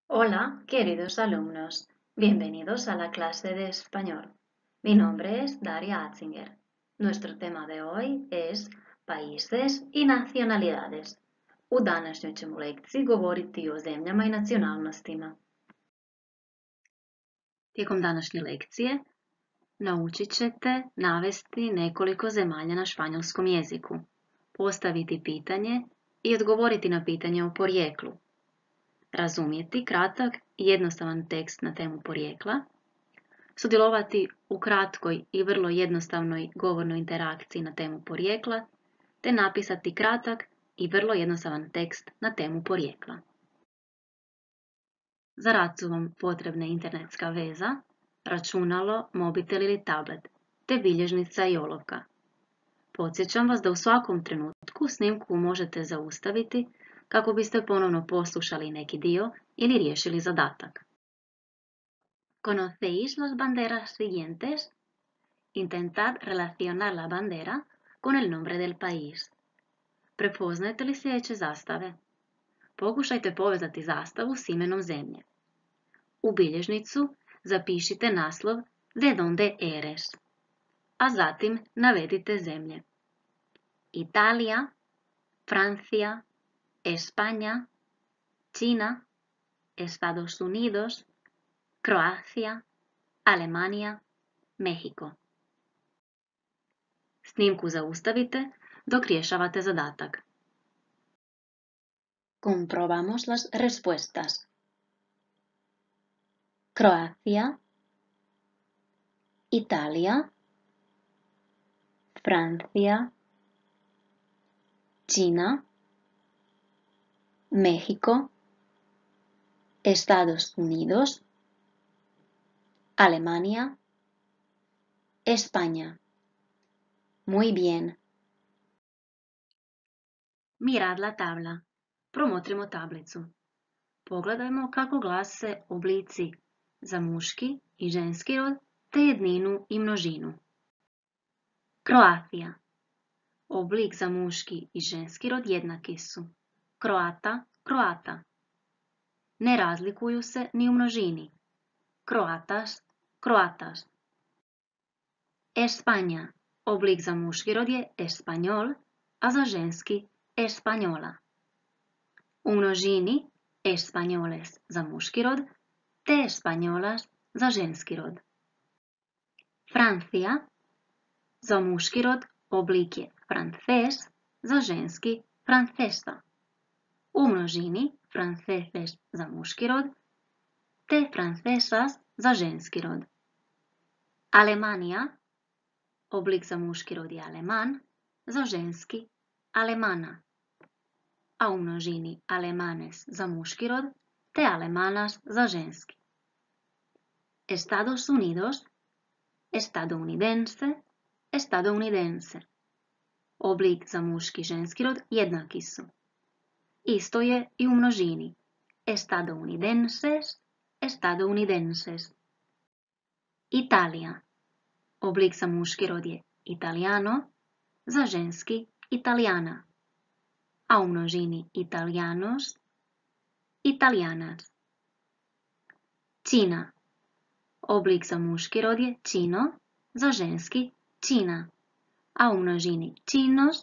Hola, queridos alumnos. Bienvenidos a la clase de español. Mi nombre es Daria Atzinger. Nuestro tema de hoy es países i nacionalidades. U današnjoj ćemo lekciji govoriti o zemljama i nacionalnostima. Tijekom današnje lekcije naučit ćete navesti nekoliko zemalja na španjolskom jeziku, postaviti pitanje i odgovoriti na pitanje o porijeklu, razumjeti kratak i jednostavan tekst na temu porijekla, sudjelovati u kratkoj i vrlo jednostavnoj govornoj interakciji na temu porijekla, te napisati kratak i vrlo jednostavan tekst na temu porijekla. Za rad su vam potrebne internetska veza, računalo, mobitel ili tablet, te bilježnica i olovka. Podsjećam vas da u svakom trenutku snimku možete zaustaviti kako biste ponovno poslušali neki dio ili riješili zadatak. ¿Conocéis las banderas siguientes? Intentad relacionar la bandera con el nombre del país. Prepoznajete li sljedeće zastave? Pokušajte povezati zastavu s imenom zemlje. U bilježnicu zapišite naslov De donde eres, a zatim navedite zemlje. Italija, Francija, España, China, Estados Unidos, Croacia, Alemania, México. Snimku zaustavite dok rješavate zadatak. Comprobamos las respuestas. Croacia, Italia, Francia, China, México, Estados Unidos, Alemania, España. Muy bien. Mirad la tabla. Promotrimo tablicu. Pogledajmo kako glase oblici za muški i ženski rod, te jedninu i množinu. Croacia. Oblik za muški i ženski rod jednaki su. Croata, Croata. Ne razlikuju se ni u množini. Croatas, Croatas. España. Oblik za muški rod je español, a za ženski española. U množini españoles za muški rod, te españolas za ženski rod. Francija. Za muški rod oblik je frances, za ženski francesa. U množini franceses za muški rod, te francesas za ženski rod. Alemania. Oblik za muški rod je aleman, za ženski alemana. A u množini alemanes za muški rod, te alemanas za ženski. Estados Unidos, estadounidense, estadounidense. Oblik za muški i ženski rod jednaki su. Isto je i u množini. Estadounidenses, estadounidenses. Italija. Oblik za muški rod je italiano, za ženski italijana. A u množini italianos, italianas. Čina. Oblik za muški rod je čino, za ženski čina. A u množini činos,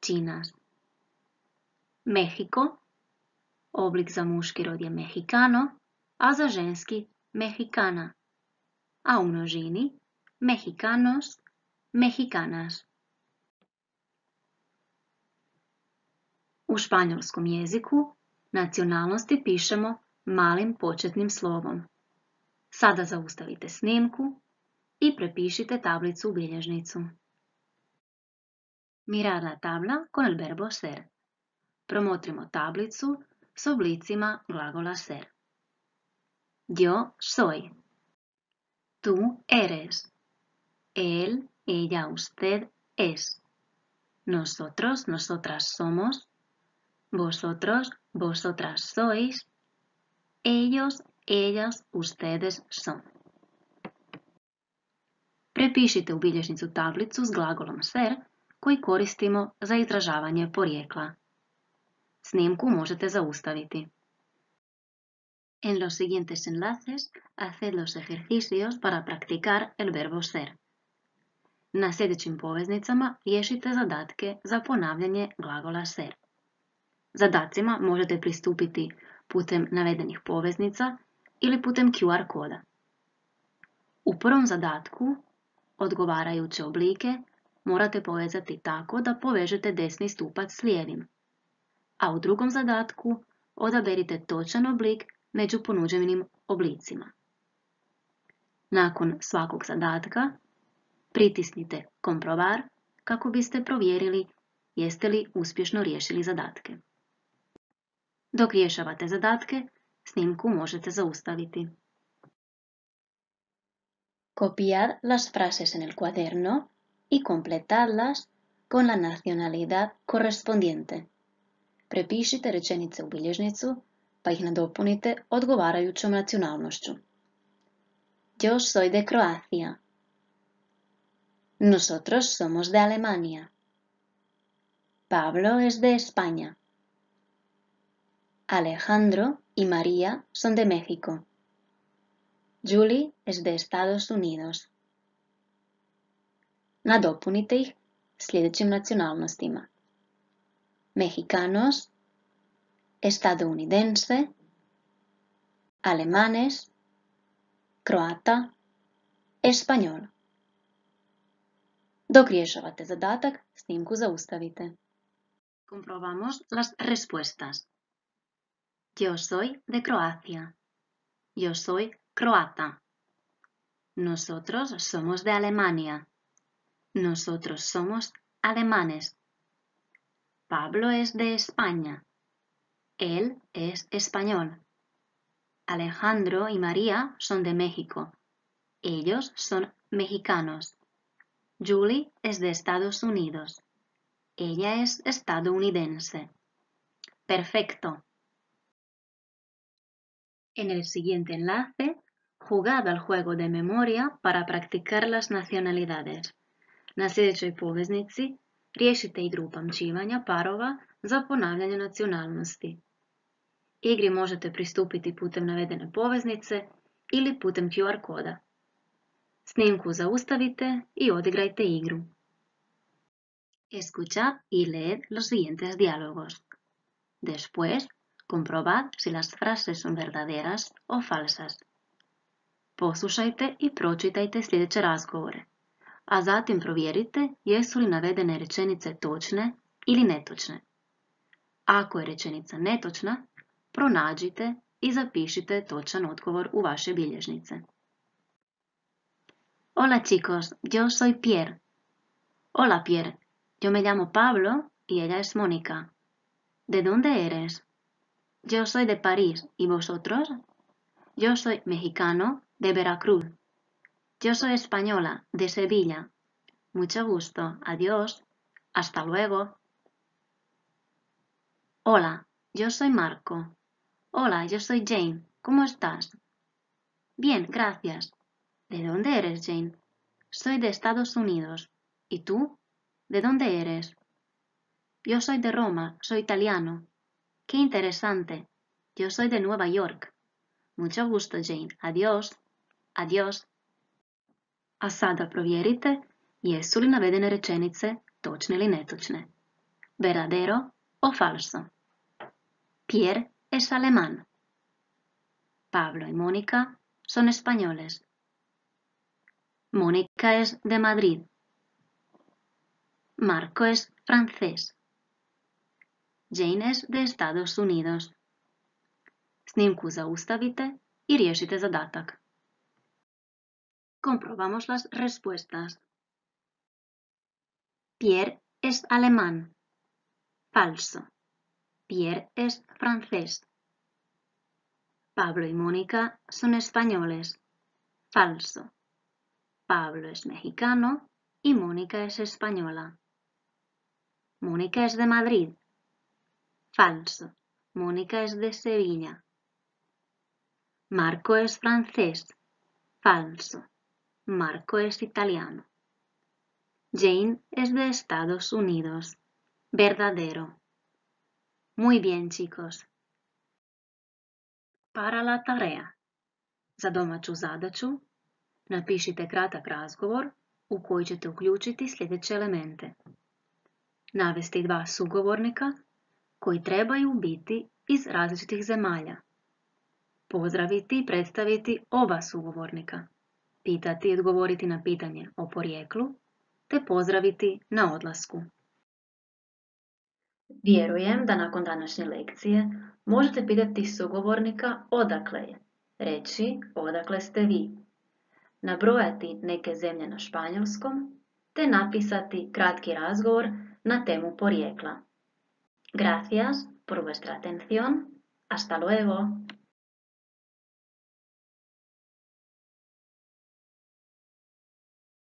činas. Mexico. Oblik za muški rod je mexicano, a za ženski mexicana. A u množini mexicanos, mexicanas. U španjolskom jeziku nacionalnosti pišemo malim početnim slovom. Sada zaustavite snimku i prepišite tablicu u bilježnicu. Mirar la tabla con el verbo ser. Promotrimo tablicu s oblicima glagola ser. Yo soy. Tú eres. Él, ella, usted es. Nosotros, nosotras somos. Vosotros, vosotras sois. Ellos, ellas, ustedes son. Prepišite u bilježnicu tablicu s glagolom ser koji koristimo za izražavanje porijekla. Snimku možete zaustaviti. En los siguientes enlaces, haced los ejercicios para practicar el verbo ser. Na sljedećim poveznicama riješite zadatke za ponavljanje glagola ser. Zadacima možete pristupiti putem navedenih poveznica ili putem QR koda. U prvom zadatku odgovarajuće oblike morate povezati tako da povežete desni stupac s lijevim, a u drugom zadatku odaberite točan oblik među ponuđenim oblicima. Nakon svakog zadatka pritisnite komprovar kako biste provjerili jeste li uspješno riješili zadatke. Dok rješavate zadatke, snimku možete zaustaviti. Copiad las frases en el cuaderno y completadlas con la nacionalidad correspondiente. Prepišite rečenice u bilježnicu pa ih nadopunite odgovarajućom nacionalnošću. Yo soy de Croacia. Nosotros somos de Alemania. Pablo es de España. Alejandro y María son de México. Julie es de Estados Unidos. Nadopunite ih sljedećim nacionalnostima: mexicanos, estadounidense, alemanes, croata, español. Dok rješavate zadatak, snimku zaustavite. Comprobamos las respuestas. Yo soy de Croacia. Yo soy croata. Nosotros somos de Alemania. Nosotros somos alemanes. Pablo es de España. Él es español. Alejandro y María son de México. Ellos son mexicanos. Julie es de Estados Unidos. Ella es estadounidense. Perfecto. En el siguiente enlace, jugad al juego de memoria para practicar las nacionalidades. Na sljedećoj poveznici riješite igru upamćivanja parova za ponavljanje nacionalnosti. Igri možete pristupiti putem navedene poveznice ili putem QR koda. Snimku zaustavite i odigrajte igru. Escuchad y leed los siguientes diálogos. Después, comprobad si las frases son verdaderas o falsas. Poslušajte i pročitajte sljedeće razgovore, a zatim provjerite jesu li navedene rečenice točne ili netočne. Ako je rečenica netočna, pronađite i zapišite točan odgovor u vaše bilježnice. Hola chicos, yo soy Pierre. Hola Pierre, yo me llamo Pablo y ella es Mónica. ¿De dónde eres? Yo soy de París, ¿y vosotros? Yo soy mexicano, de Veracruz. Yo soy española, de Sevilla. Mucho gusto, adiós, hasta luego. Hola, yo soy Marco. Hola, yo soy Jane, ¿cómo estás? Bien, gracias. ¿De dónde eres, Jane? Soy de Estados Unidos. ¿Y tú? ¿De dónde eres? Yo soy de Roma, soy italiano. Qué interesante. Yo soy de Nueva York. Mucho gusto, Jane. Adiós. Adiós. A sada provjerite jesu li navedene rečenice točne ili netočne. Verdadero o falso. Pierre es alemán. Pablo y Mónica son españoles. Mónica es de Madrid. Marco es francés. Jane es de Estados Unidos. Snimku zaustavite i riješite zadatak. Comprobamos las respuestas. Pierre es alemán. Falso. Pierre es francés. Pablo y Mónica son españoles. Falso. Pablo es mexicano y Mónica es española. Mónica es de Madrid. Falso. Mónica es de Sevilla. Marco es francés. Falso. Marco es italiano. Jane es de Estados Unidos. Verdadero. Muy bien, chicos. Para la tarea. Za domaću zadaću napišite kratak razgovor u koji ćete uključiti sljedeće elemente. Navesti 2 sugovornika koji trebaju biti iz različitih zemalja. Pozdraviti i predstaviti oba sugovornika. Pitati i odgovoriti na pitanje o porijeklu, te pozdraviti na odlasku. Vjerujem da nakon današnje lekcije možete pitati sugovornika odakle je, reći odakle ste vi, nabrojati neke zemlje na španjolskom, te napisati kratki razgovor na temu porijekla. Gracias por vuestra atención. Hasta luego.